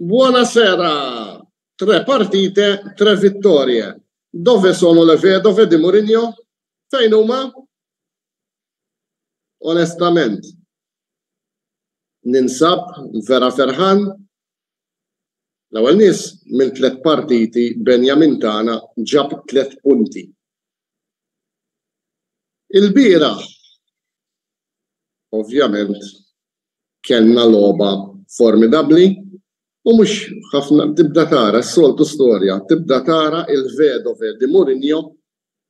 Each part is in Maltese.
Buonasera! Tre partite, tre vittorie. Dove sono le vedove di Mourinho? Fejn huma? Onestament, ninsab vera ferħan. L-ewwel nies minn tliet partiti Benjamin tagħna ġab tliet punti. Ilbieraħ, ovvjament, kellna logħba formidabbli u mhux ħafna tibda tara s-soltu storja, tibda tara il-vedove di Mourinho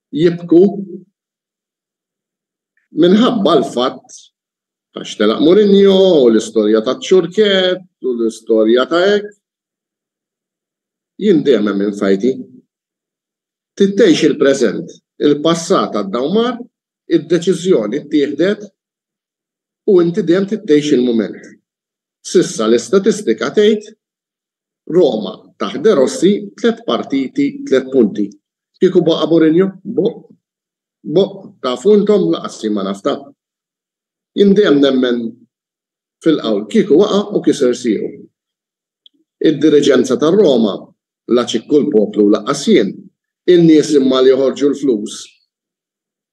jibku minħabba l-fatt għax telaq Mourinho u l-istorja taċ-ċurkett u l-istorja ta' hekk. Jien dejjem hemm infajti. Trid tgħix il-preżent, il-passat għadda u mar, id-deċiżjoni ttieħdet u inti dejjem trid tgħix il-mument. S'issa l-istatistika tgħid Roma taħt De Rossi tliet partiti tliet punti. Kieku baqa' Mourinho? Boq. Boq, tafu intom laqas jien ma naf ta. Jien dejjem nemmen fil-qawl kieku waqa' u kiser siequ. Id-diriġenza tar-Roma la ċikku l-poplu u laqqas jien, in-nies imma li joħorġu l-flus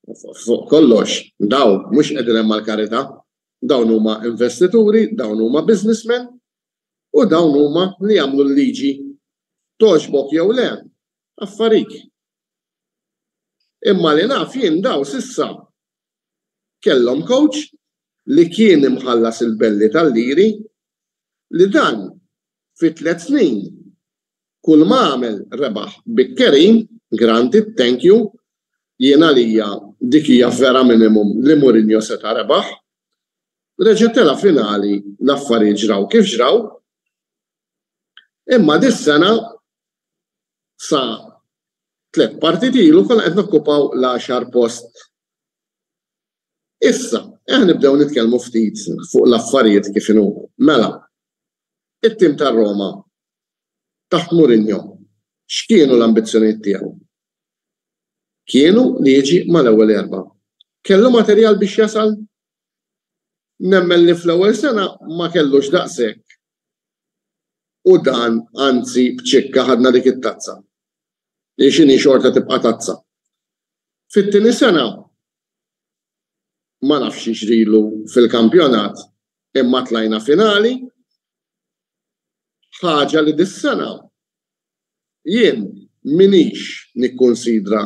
Fuq kollox, dawn mhux qegħdin hemm għall-karità. Dawn huma investituri, dawn huma businessmen u dawn huma li jagħmlu l-liġi. Togħġbok jew le, affarik. Imma li naf jien dawn s'issa kellhom coach li kien imħallas il-belli tal-liri li dan fi tlett snin Kull ma għamel rebaħ bikkerin, granted, thank you, jien għalija dik hija vera minimum li Mourinho seta' rebaħ. Reġa' tela' finali l-affarijiet ġraw kif ġraw. Imma dis-sena sa tlett partiti ilu konna qed nokkupaw l-għaxar post. Issa, eħ nibdew nitkellmu ftit fuq l-affarijiet kif inhuma. Mela, it-tim tar-Roma taħt Mourinho, x'kienu l-ambizzjonijiet tiegħu? Kienu li jiġi mal-ewwel erbgħa. Kellu materjal biex jasal? Nemmen li fl-ewwel sena ma kellux daqshekk u dan anzi b'ċikka ħadna dik it-tazza. Li x'inhi xorta tibqa' tazza. Fit-tieni sena ma nafx x'jiġrilu fil-kampjonat imma tlajna finali Ħaġa li dis-sena jien m'iniex nikkunsidra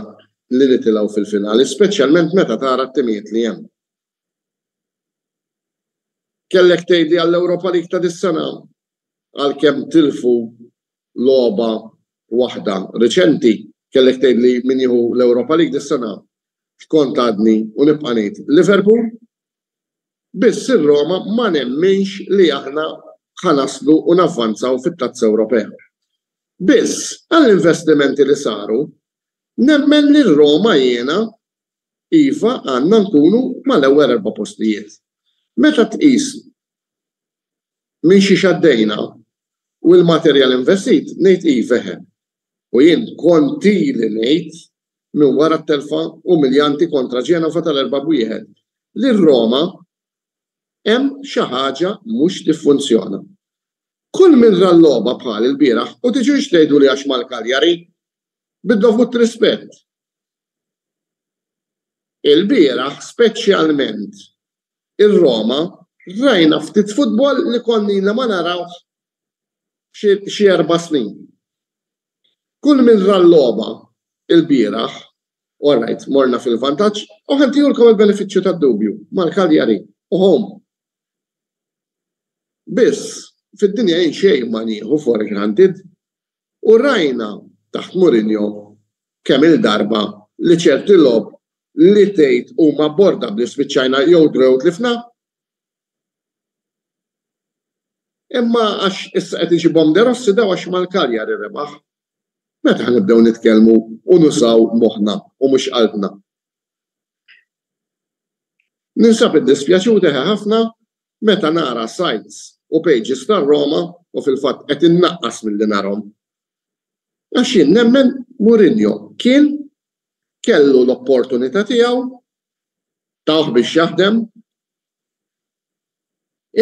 li nitilgħu fil-finali, speċjalment meta tara t-timijiet li hemm. Kellek tgħidli għall-Europa League ta' dis-sena għalkemm tilfu logħba waħda riċenti, kellek tgħidli min jieħu l-Europa League dis-sena, x'kont għadni u nibqa' ngħid Liverpool. Biss ir-Roma ma nemminx li aħna ħa naslu u navvanzaw fit-Tazza Ewropea. Biss, għall-investimenti li saru, nemmen li r-Roma jiena, iva għandna nkunu mal-ewwel erba' postijiet. Meta tqis minn xiex għaddejna u l-materjal investit, ngħid iva eħe. U jien kont ili ngħid minn wara t-telfa umiljanti kontra Genova tal-erbgħa b'wieħed, li r-Roma hemm xi ħaġa mhux tiffunzjona. Kull min ra l-logħba bħali lbieraħ u tiġux tgħiduli għax mal-Cagliari, bid-dovut rispett. Ilbieraħ speċjalment ir-Roma rajna ftit futbol li konna ilna ma narawh xi erba' snin. Kull min ra l-logħba ilbieraħ, all right, morna fil-vantaġġ u ħa ntihulkom il-benefiċċju tad-dubju mal-Cagliari u home. Biss, fid-dinja jien xejn ma nieħu for granted u rajna taħt Mourinho kemm-il darba li ċerti logħob li tgħid huma abbordabbli spiċċajna jew draw jew tlifna. Imma għax issa qed iġibhom De Rossi daw għax mal-Cagliari rebaħ. Meta ħa nibdew nitkellmu u nużaw moħħna u mhux qalbna? Ninsab iddispjaċut eħe ħafna meta nara sites u pages tar-Roma u fil-fatt qed innaqqas milli narhom. Għax jien nemmen Mourinho kien kellu l-opportunità tiegħu, tawh biex jaħdem,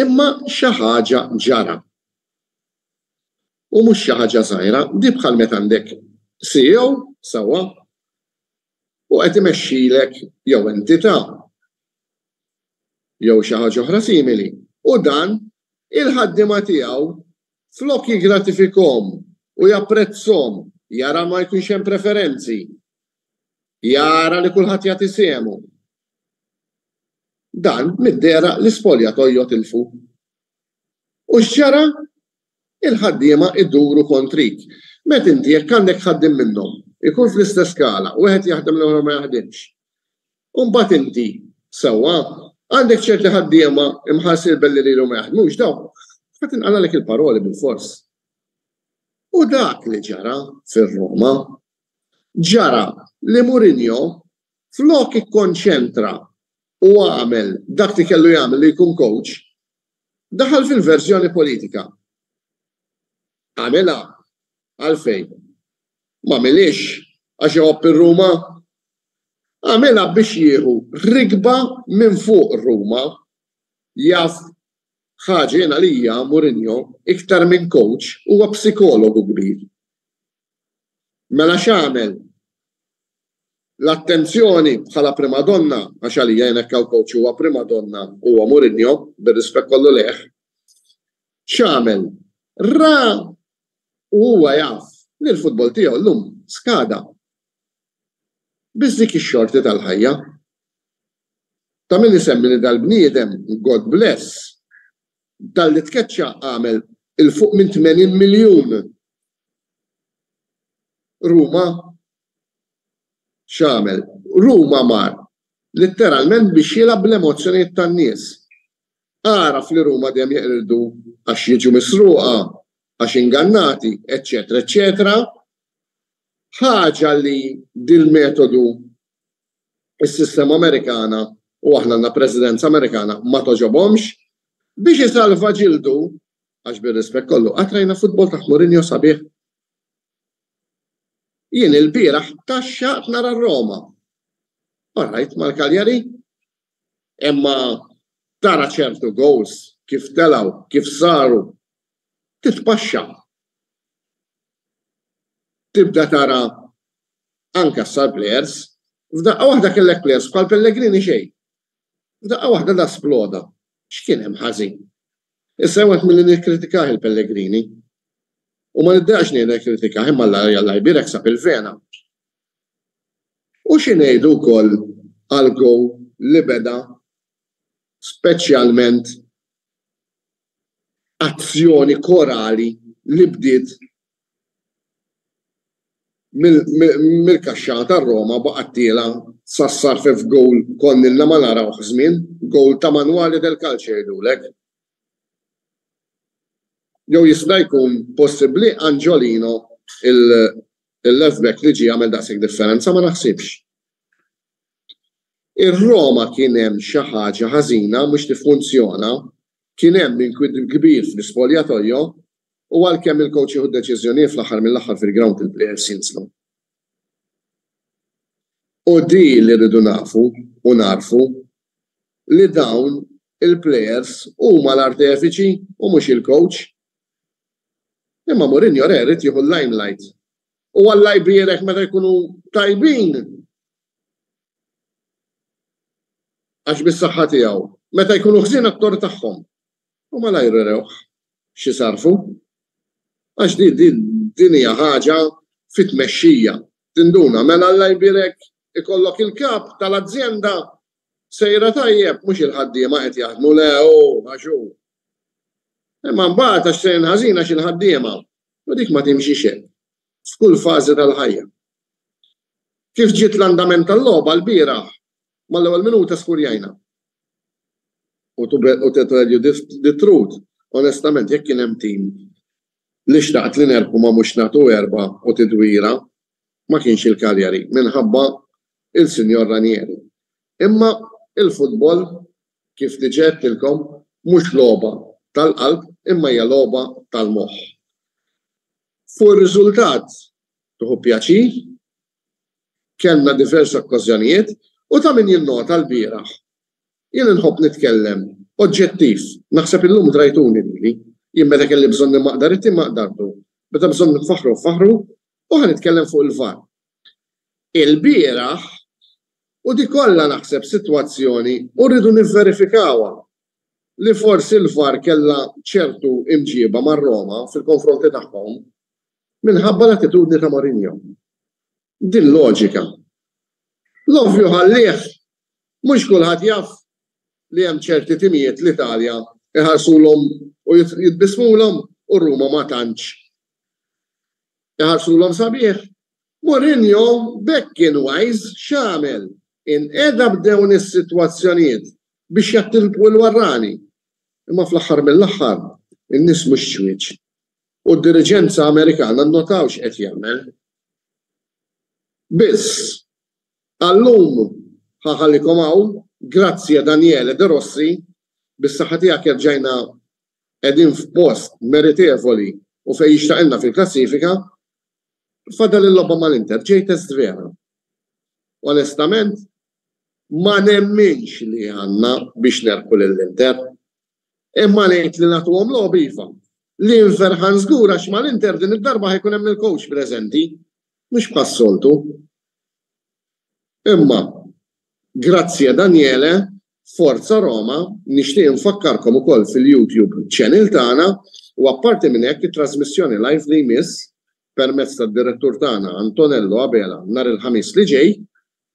imma xi ħaġa ġara. U mhux xi ħaġa żgħira, di bħal meta għandek CEO, sewwa, u qed imexxilek jew entità jew xi ħaġa oħra simili, u dan il-ħaddiema tiegħu flok jiggratifikhom u japprezzhom, jara ma jkunx hemm preferenzi, jara li kulħadd jagħti sehmu. Dan mid-dehra l-ispoljatojo tilfu. U x'ġara? Il-ħaddiema iduru kontrik. Meta inti jekk għandek ħaddiem minnhom, ikun fl-istess skala, wieħed jaħdem l-ieħor ma jaħdimx. U mbagħad inti, sewwa, għandek ċerti ħaddiema imħallsin belli lilhom ma jaħdmux, dawk ħa tinqalgħalek il-paroli bilfors. U dak li ġara fir-Roma. Ġara li Mourinho flok ikkonċentra u għamel dak li kellu jagħmel li jkun coach, daħal fil-verżjoni politika. Għamilha għalfejn? M'għamilhiex għax iħobb ir-Ruma. Għamilha biex jieħu rikba minn fuq Ruma. Jaf ħaġa jien għalija Mourinho iktar minn coach huwa psikologu kbir. Mela x'għamel? L-attenzjoni bħala primadonna, għax għalija jien hekk hawn coach huwa primadonna huwa Mourinho, bir-rispett kollu lejh. X'għamel? Ra u huwa jaf li l-futbol tiegħu llum skada. Biss dik ix-xorti tal-ħajja. Ta' min isemmi li dal-bniedem, God bless, talli tkeċċa għamel 'il fuq minn 80 miljun Ruma x'għamel? Ruma mar litteralment biex jilgħab bl-emozzjonijiet tan-nies. Għaraf li Ruma dejjem jeqirdu għax jiġu misruqa, għax ingannati, eċċetera eċċetera. Ħaġa li dil-metodu is-sistema Amerikana u aħna għandna presidenza Amerikana ma togħġobhomx, biex isalva ġildu, għax bir-rispett kollu, qatt rajna futbol taħt Mourinho sabiħ? Jien ilbieraħ tgħaxxaqt nara r-Roma. All right, mal-Cagliari. Imma tara ċertu goals kif telgħu, kif saru, titpaxxa. Tibda tara anke sar players. F'daqqa waħda kellek players bħal Pellegrini xejn. F'daqqa waħda da sploda. X'kien hemm ħażin? Issa jien milli nikkritikah il-Pellegrini. U ma niddejaqx ngħid nikkritikah imma Alla jalla jbierek sab il-vena. U xi ngħidu wkoll għal goal li beda speċjalment azzjoni korali li bdiet mill-kaxxa tar-Roma baqgħet tiela' sa ssarrfet f'gowl konna ilna ma narawh żmien, gowl ta' manwali del calcio jgħidulek. Jew jista' jkun possibbli Angiolino il-left back li ġie għamel daqshekk differenza ma naħsibx. Ir-Roma kien hemm xi ħaġa ħażina mhux tiffunzjona, kien hemm inkwiet kbir fl-ispoljatoio u għalkemm il-coach jieħu d-deċiżjonijiet fl-aħħar mill-aħħar fil-ground il-players jinżlu. U di li rridu nafu u nagħrfu li dawn il-players huma l-artefiċi u mhux il-coach. Imma Mourinho re jrid jieħu l-limelight. U Alla jbierek meta jkunu tajbin għax bis-saħħa tiegħu. Meta jkunu ħżiena t-tort tagħhom. U malajr urewh x'isarrfu. Għax di, di, din hija ħaġa fit-tmexxija. Tinduna, mela Alla jbierek ikollok il-kap tal-azjenda sejra tajjeb, mhux il-ħaddiema qed jaħdmu, le hu, għax hu. Imma mbagħad għax sejrin ħażin għax il-ħaddiema. U dik ma timxix hekk. F'kull fażi tal-ħajja. Kif ġiet l-andament tal-logħba lbieraħ, mal-ewwel minuta skurjajna. U to, u to tell you the truth, onestament, jekk kien hemm tim li xtaqt li nerbħu ma mhux nagħtu erba' u tidwira, ma kienx il-Cagliari minħabba il-Sinjor Ranieri. Imma il-futbol, kif diġà għedtilkom, mhux logħba tal-qalb imma hija logħba tal-moħħ. Fuq ir-riżultat tieħu pjaċir, kellna diversi okkażjonijiet u ta' min jinnota lbieraħ Jien inħobb nitkellem oġġettiv. Naħseb illum drajtuni lili. Jien meta kelli bżonn immaqdar it-tim maqdartu. Meta bżonn nfaħħru nfaħħru u ħa nitkellem fuq il-VAR. Ilbieraħ, u di kollha naħseb sitwazzjoni u rridu nivverifikawha, li forsi l-VAR kellha ċertu imġieba mar-Roma fil-konfronti tagħhom minħabba l-attitudni ta' Mourinho. Din loġika. L-ovvju ħallih, mhux kulħadd jaf li hemm ċerti timijiet l-Italja iħarsulhom u jitbissmulhom u Ruma ma tantx iħarsulhom sabiħ. Mourinho b'hekk kien wise x'għamel? Inqeda b'dewn is-sitwazzjonijiet biex jattilpu l-warrani. Imma fl-aħħar mill-aħħar in-nies mhux ċwieċ. U d-diriġenza Amerikana nnotaw x'qed jagħmel. Biss, għal-lum ħa ħallikom hawn, grazie Daniele De Rossi, bis-saħħa tiegħek erġajna qegħdin f'post meritevoli u fejn jixtaqilna fil-klassifika, fadal il-logħba mal-Inter, ġej test vera. Onestament, ma nemminx li għandna biex nerbħu lill-Inter. Imma ngħid li nagħtuhom logħob iva. Li nferħan żgur għax mal-Inter din id-darba ħa jkun hemm il-coach preżenti, mhux bħas-soltu. Imma, grazie Daniele, Forza Roma, nixtieq infakkarkom ukoll fil-YouTube channel tagħna u apparti minn hekk it-trasmissjoni live li jmiss permezz tad-direttur tagħna Antonello Abela nhar il-Ħamis li ġej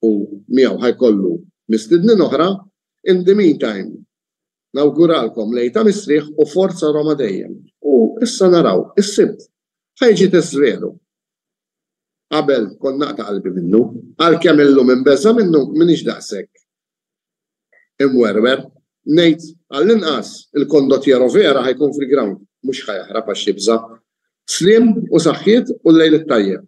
u miegħu ħa jkollu mistednin oħra. In the meantime, nawguralkom lejl ta' mistrieħ u Forza Roma dejjem. U issa naraw, is-Sibt ħa jiġi test veru. Qabel kont naqta' qalbi minnu, għalkemm illum imbeżża' minnu m'iniex daqshekk imwerwer. Ngħid għall-inqas il-condottiero vera ħa jkun fil-ground, mhux ħa jaħrab għax jibża'. Sliem u saħħiet u l-lejl it-tajjeb.